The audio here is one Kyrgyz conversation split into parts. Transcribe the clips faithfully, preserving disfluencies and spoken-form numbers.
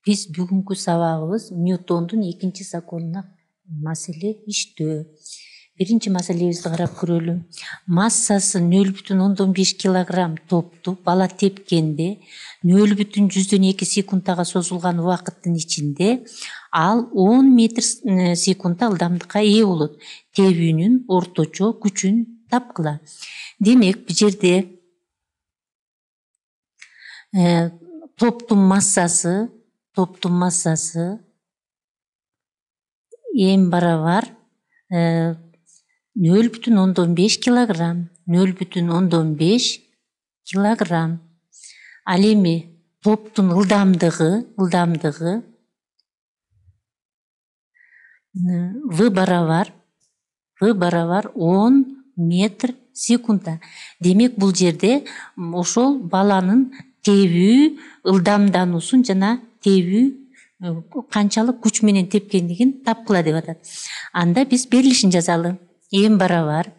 Биз бүгүнкү сабагыбыз Ньютондун экинчи законуна маселе иштөө. Биринчи маселебизди карап көрөлү. Массасы нөл бүтүн ондон беш килограмм топту бала тепкенде нөл бүтүн жүздөн эки секундага созулган убакыттын ичинде ал он метр секундта ылдамдыкка ээ болот. Тебүүнүн орточо күчүн тапкыла. Демек, бул жерде э, топтун массасы топтун массасы эм барабар нөл бүтүн ондон беш килограмм. нөл бүтүн ондон беш килограмм. Ал эми топтун ылдамдыгы, ылдамдыгы В барабар В барабар он метр секундта. Демек, бул жерде ошол баланын тебүү ылдамдануусун жана тебүү канчалык күч менен тепкендигин тапкыла деп атат. Анда биз берилишин жазалы. Эм барабар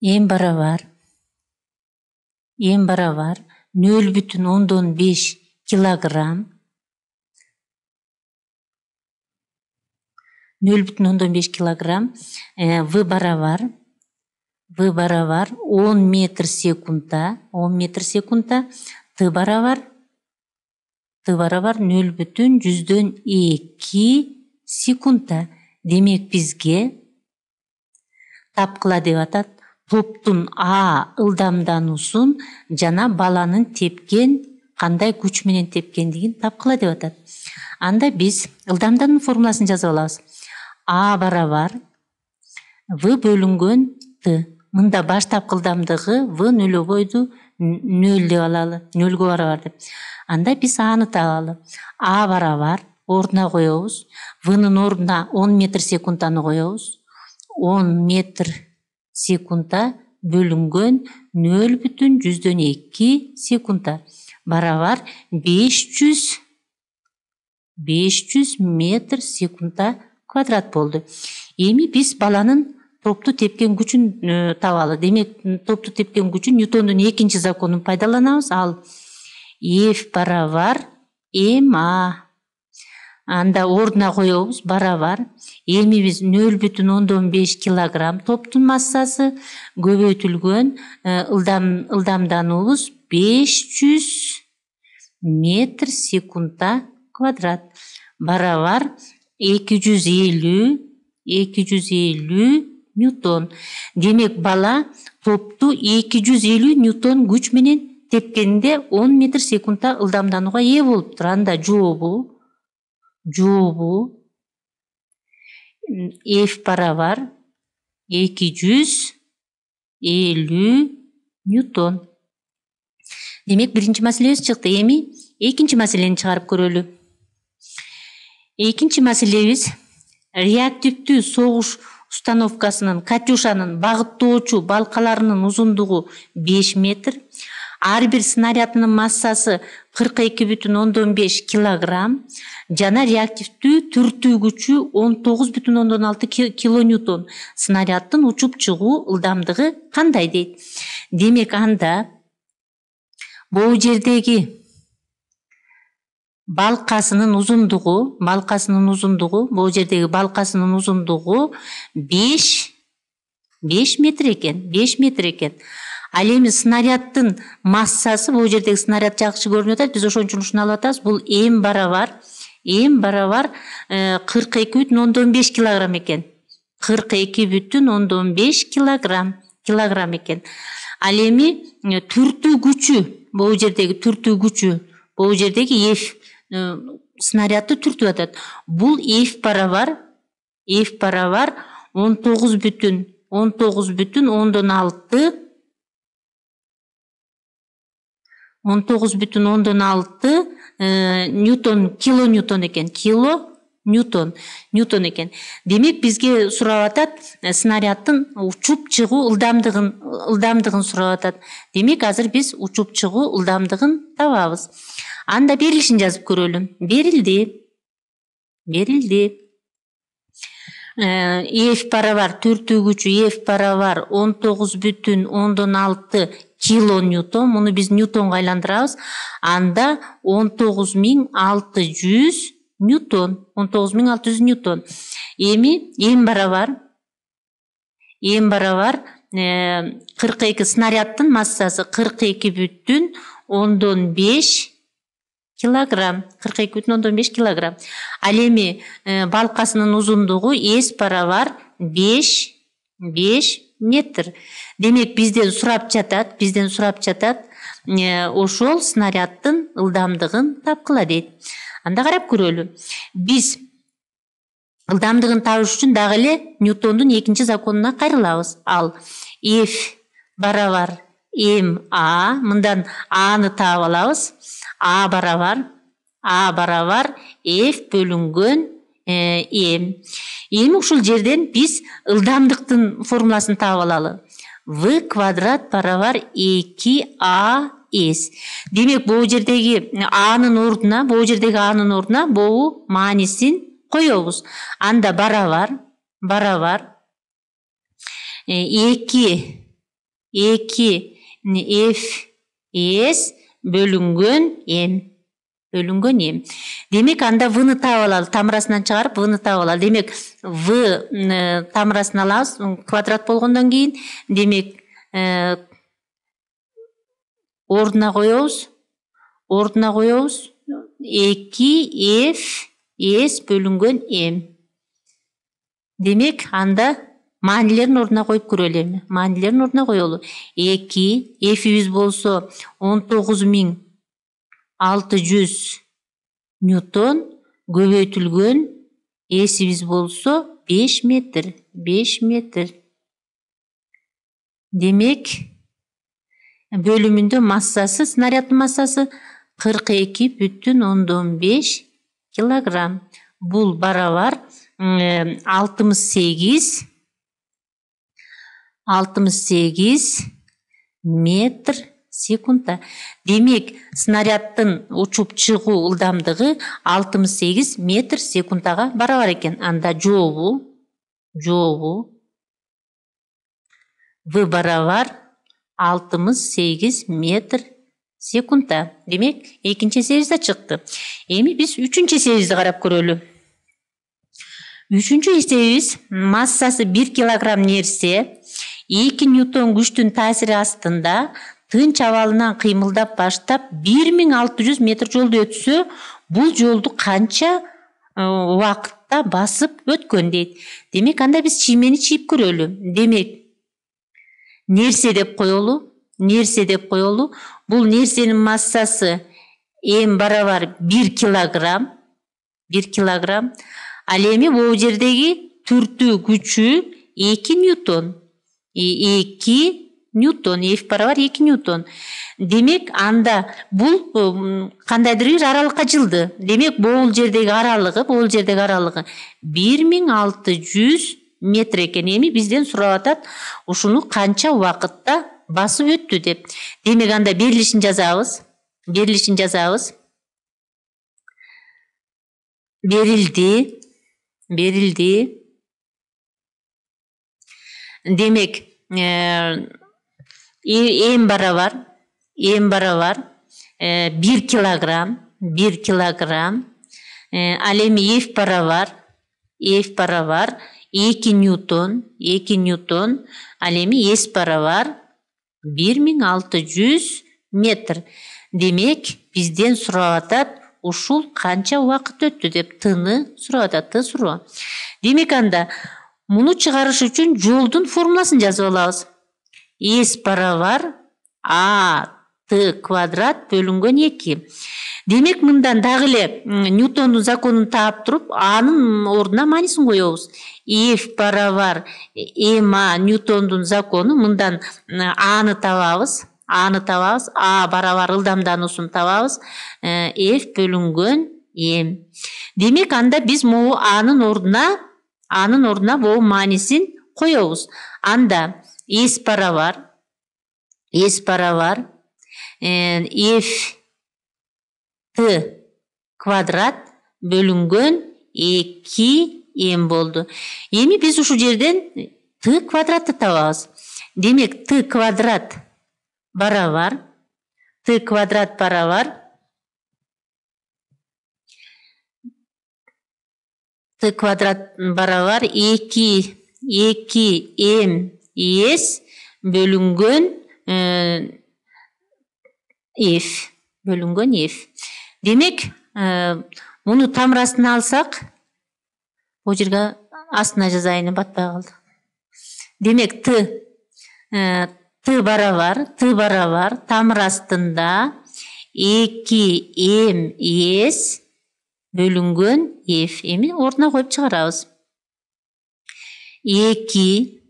Эм барабар Эм барабар нөл бүтүн ондон беш килограмм. нөл бүтүн ондон беш килограмм. В барабар В барабар он метр секундта. он метр секундта. Т барабар Т барабар нөл бүтүн жүздөн эки секундта. Демек, бизге тапкыла деп атат топтун А ылдамдануусун жана баланын тепкен кандай күч менен тепкендигин тапкыла деп атат. Анда биз ылдамдануу формуласын жазып алабыз. А барабар В бөлүнгөн Т. Мында баштапкы ылдамдыгы В нөлөбойду нөл деп алалы. нөлгө барабар деп. Анда биз Аны табалы. А барабар ордуна коебуз. В'нын ордуна он метр секундтаны коебуз. он метр секундта бөлүнгөн нөл бүтүн жүздөн эки секундта барабар беш жүз беш жүз метр секундта квадрат болду. Эми биз баланын топту тепкен күчүн табалы. Демек, топту тепкен күчүн Ньютондун экинчи законун пайдаланабыз. Ал F барабар ма. Анда ордуна коебуз барабар. Эми биз нөл бүтүн ондон беш килограмм топтун массасы көбөйтүлгөн ылдам ылдамдануубуз беш жүз метр секундта квадрат барабар эки жүз элүү эки жүз элүү ньютон. Демек, бала топту эки жүз элүү ньютон күч менен тепкенде он метр секундта ылдамданууга ээ болуптур. Анда жообу жообу F барабар эки жүз элүү ньютон. Демек, биринчи маселебиз чыкты. Эми экинчи маселени чыгарып көрөлү. Экинчи маселебиз реактивдүү согуш установкасынын Катюшанын багыттоочу балкаларынын узундугу беш метр, ар бир снарядынын массасы кырк эки бүтүн ондон беш килограмм жана реактивдүү түртүү күчү он тогуз бүтүн ондон алты килоньютон. Снаряддын учуп чыгуу ылдамдыгы кандай дейт? Демек, анда бул жердеги балкасынын узундугу, балкасынын узундугу, бул жердеги балкасынын узундугу беш метр экен, беш метр экен. Ал эми снаряддын массасы, бул жердеги снаряд жакшы көрүнүп атат, биз ошон үчүн ушуну алып атабыз. Бул М барабар, М барабар кырк эки бүтүн ондон беш килограмм экен. кырк эки бүтүн ондон беш килограмм, килограмм экен. Ал эми түртүү күчү, бул жердеги түртүү күчү, бул жердеги F снарядды түртүп атат. Бул F барабар, F барабар он тогуз бүтүн ондон алты он тогуз бүтүн ондон алты ньютон, килоньютон экен. Кило ньютон, ньютон экен. Демек, бизге сурап атат снаряддын учуп чыгуу ылдамдыгын, ылдамдыгын сурап атат. Демек, азыр биз учуп чыгуу ылдамдыгын табабыз. Анда берилишин жазып көрөлү. Берилди. Берилди. F барабар түртүү күчү F барабар он тогуз бүтүн ондон алты килоньютон. Муну биз ньютонго айландырабыз. Анда он тогуз миң алты жүз ньютон. он тогуз миң алты жүз ньютон. Эми эң барабар эң барабар кырк эки снаряддын массасы кырк эки бүтүн ондон беш килограмм. кырк эки бүтүн ондон беш килограмм. Ал эми балкасынын узундугу эс барабар беш метр. Демек бизден сурап жатат, бизден сурап жатат, ошол снаряддын ылдамдыгын тапкыла дейт. Анда карап көрөлү. Биз ылдамдыгын табыш үчүн дагы эле Ньютондун экинчи законуна кайрылабыз. Ал F барабар ма, мындан аны таап алабыз. А барабар А барабар F бөлүнгөн м. Эми ушул жерден биз ылдамдыктын формуласын таап алалы. В квадрат барабар эки а эс. Демек бул жердеги анын ордуна, бул жердеги анын ордуна бул маанисин коебуз. Анда барабар барабар эки эки эф эс бөлүнгөн м. бөлүнгөн м. Демек анда вны таап алалы, тамырасынан чыгарып вны таап алалы. Демек в тамырасын алабыз квадрат болгондон кийин. Демек ордуна коебуз. Ордуна коебуз эки эф эс бөлүнгөн м. Демек анда маанилерин ордуна коюп көрөлү эми. Маанилерин ордуна коелу. эки эфибиз болсо он тогуз миң алты жүз ньютон, көбөйтүлгөн эсибиз болсо беш метр. беш метр. Демек бөлүмүндө массасы, снаряддын массасы кырк эки бүтүн ондон беш килограмм. Бул барабар алтымыш сегиз алтымыш сегиз метр секундта. Демек снаряддын учуп чыгуу ылдамдыгы алтымыш сегиз метр секундтага барабар экен. Анда жообу жообу В барабар алтымыш сегиз метр секундта. Демек экинчи эсебиз да чыкты. Эми биз үчүнчү эсебибизди карап көрөлү. Үчүнчү эсебибиз массасы бир килограмм нерсе эки ньютон күчтүн таасири астында тынч абалынан кыймылдап баштап бир миң алты жүз метр жолду өтсө, бул жолду канча убакытта басып өткөн дейт. Демек анда биз чиймени чийип көрөлү. Демек нерсе деп коелу. Нерсе деп коелу. Бул нерсенин массасы м барабар бир килограмм. бир килограмм. Ал эми бул жердеги түртүү күчү эки ньютон. эки ньютон. F барабар эки ньютон. Демек анда бул кандайдыр бир аралыкка жылды. Демек бул жердеги аралыгы, бул жердеги аралыгы бир миң алты жүз метр экен. Эми бизден сурап атат, ушуну канча убакытта басып өттү деп. Демек анда берилишин жазабыз. Берилишин жазабыз. Берилди. Берилди. Демек м барабар м барабар бир килограмм. бир килограмм. Ал эми F барабар F барабар эки ньютон. эки ньютон. Ал эми S барабар бир миң алты жүз метр. Демек бизден сурап атат, ушул канча убакыт өттү деп. Тыны сурап атат, ты суроо. Демек анда муну чыгарыш үчүн жолдун формуласын жазып алабыз. S барабар А Т квадрат бөлүнгөн эки. Демек мындан дагы эле Ньютондун законун таап туруп, анын ордуна маанисин коебуз. F барабар ма Ньютондун закону, мындан аны табабыз. Аны табабыз. А барабар ылдамдануусун табабыз. F бөлүнгөн м. Демек анда биз могу анын ордуна анын ордуна бул маанисин коебуз. Анда S барабар S барабар F Т квадрат бөлүнгөн эки м болду. Эми биз ушул жерден Т квадратты табабыз. Демек Т квадрат барабар т квадрат барабар т квадрат барабар эки эки м с бөлүнгөн f бөлүнгөн f. Демек, муну тамыр астына алсак, бул жерге астына жазайын, батпай калды. Демек, т т барабар т барабар тамыр астында эки м с бөлүнгөн f. Эми ордуна коюп чыгарабыз. эки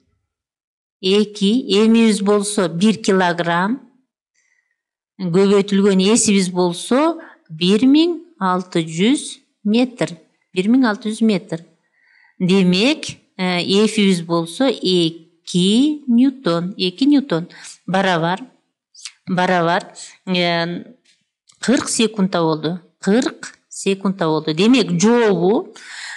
эки эмибиз болсо бир килограмм, көбөйтүлгөн эсибиз болсо бир миң алты жүз метр. бир миң алты жүз метр. Демек, эфибиз болсо эки ньютон. эки ньютон барабар барабар кырк секундта болду. кырк секундта болду. Демек, жообу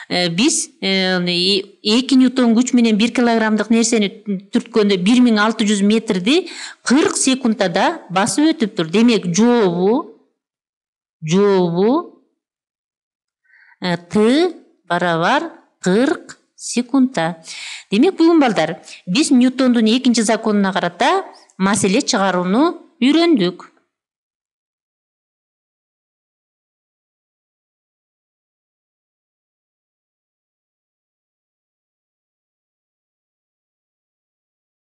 биз эки ньютон күч менен бир килограммдык нерсени түрткөндө бир миң алты жүз метрди кырк секундтада басып өтүптүр. Демек, жообу жообу т барабар кырк секундта. Демек, бүгүн балдар, биз Ньютондун экинчи законуна карата маселе чыгарууну үйрөндүк.